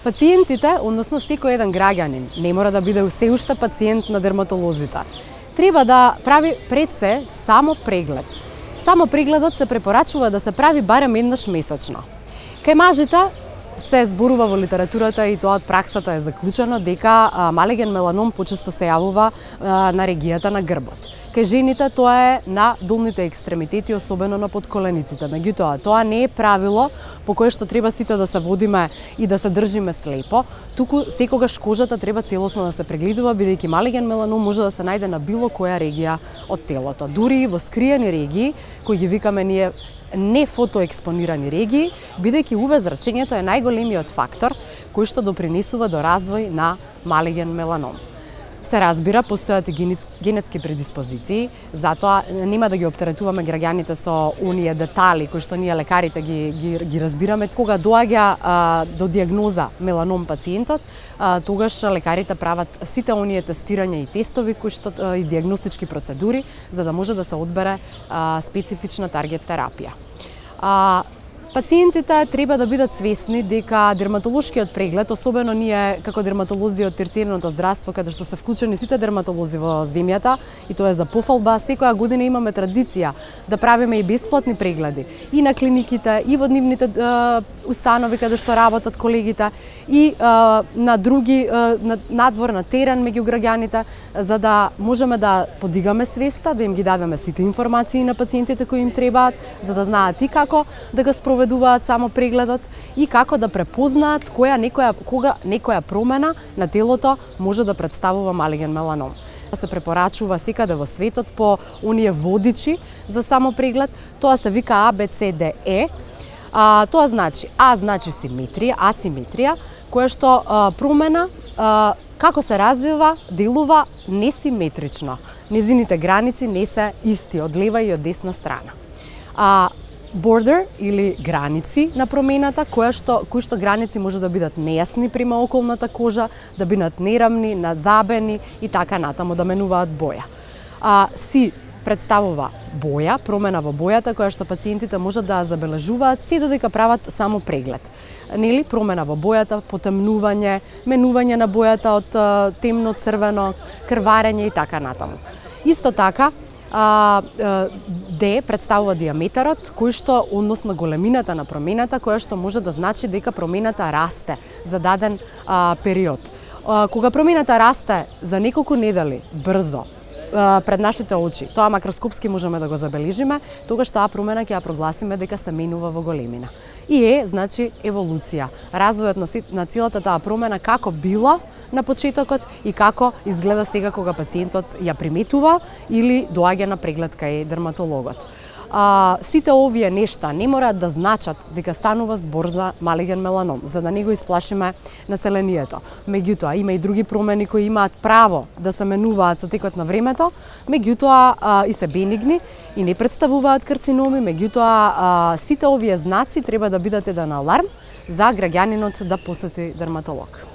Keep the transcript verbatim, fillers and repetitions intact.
Пациентите, односно секој еден граѓанин, не мора да биде се уште пациент на дерматолозите. Треба да прави пред се само преглед. Само прегледот се препорачува да се прави барем еднаш месечно. Кај мажите се зборува во литературата и тоа од праксата е заклучено дека малеген меланом почесто се јавува на регијата на грбот. Кај жените тоа е на долните екстремитети, особено на подколениците. Меѓутоа, тоа не е правило по кое што треба сите да се водиме и да се држиме слепо, туку секогаш кожата треба целосно да се прегледува, бидејќи малеген меланом може да се најде на било која регија од телото. Дури во скриени регии, кои ги викаме ние не фотоекспонирани регии, бидејќи УВ зрачењето е најголемиот фактор кој што допринесува до развој на малеген меланом. Се разбира, постојат и генетски предиспозиции, затоа нема да ги оптеретуваме граѓаните со оние детали кои што ние лекарите ги, ги, ги разбираме. Кога доаѓа а, до диагноза меланом пациентот, а, тогаш лекарите прават сите оние тестирања и тестови кои што а, и диагностички процедури за да може да се одбере а, специфична таргет терапија. А, Пациентите треба да бидат свесни дека дерматолошкиот преглед, особено ние како дерматолози од терцијерното здравство, каде што се вклучени сите дерматолози во земјата, и тоа е за пофалба, секоја година имаме традиција да правиме и бесплатни прегледи и на клиниките, и во нивните е, установи каде што работат колегите, и е, на други, е, на надвор, на терен меѓу граѓаните, за да можеме да подигаме свеста, да им ги дадеме сите информации на пациентите кои им требаат, за да знаат и како да го спроведуваат само прегледот и како да препознаат која некоја кога некоја промена на телото може да представува малеген меланом. Се препорачува секаде во светот по оние водичи за само преглед, тоа се вика А Б С Д Е. А, тоа значи А значи симетрија, асиметрија, која што а, промена а, како се развива, делува несиметрично. Незините граници не се исти од лева и од десна страна. А border или граници на промената, која што, кои што граници може да бидат нејасни према околната кожа, да бидат нерамни, назабени и така натаму, да менуваат боја. А, си представува боја, промена во бојата, која што пациентите можат да забележуваат се додека прават само преглед. Нели, промена во бојата, потемнување, менување на бојата од темно црвено, крварење и така натаму. Исто така, Д представува диаметарот, кој што, односно големината на промената, која што може да значи дека промената расте за даден а, период. А, кога промената расте за неколку недели брзо а, пред нашите очи, тоа макроскопски можеме да го забележиме, тогаш таа промена ќе ја прогласиме дека се менува во големина. И е, значи, еволуција. Развојот на, на целата таа промена како била на почетокот и како изгледа сега кога пациентот ја приметува или доаѓа на преглед кај дерматологот. А, сите овие нешта не мораат да значат дека станува збор за малеген меланом, за да не го исплашиме населението. Меѓутоа, има и други промени кои имаат право да се менуваат со текот на времето, меѓутоа а, и се бенигни и не представуваат карциноми, меѓутоа а, сите овие знаци треба да бидат еден аларм за граѓанинот да посети дерматолог.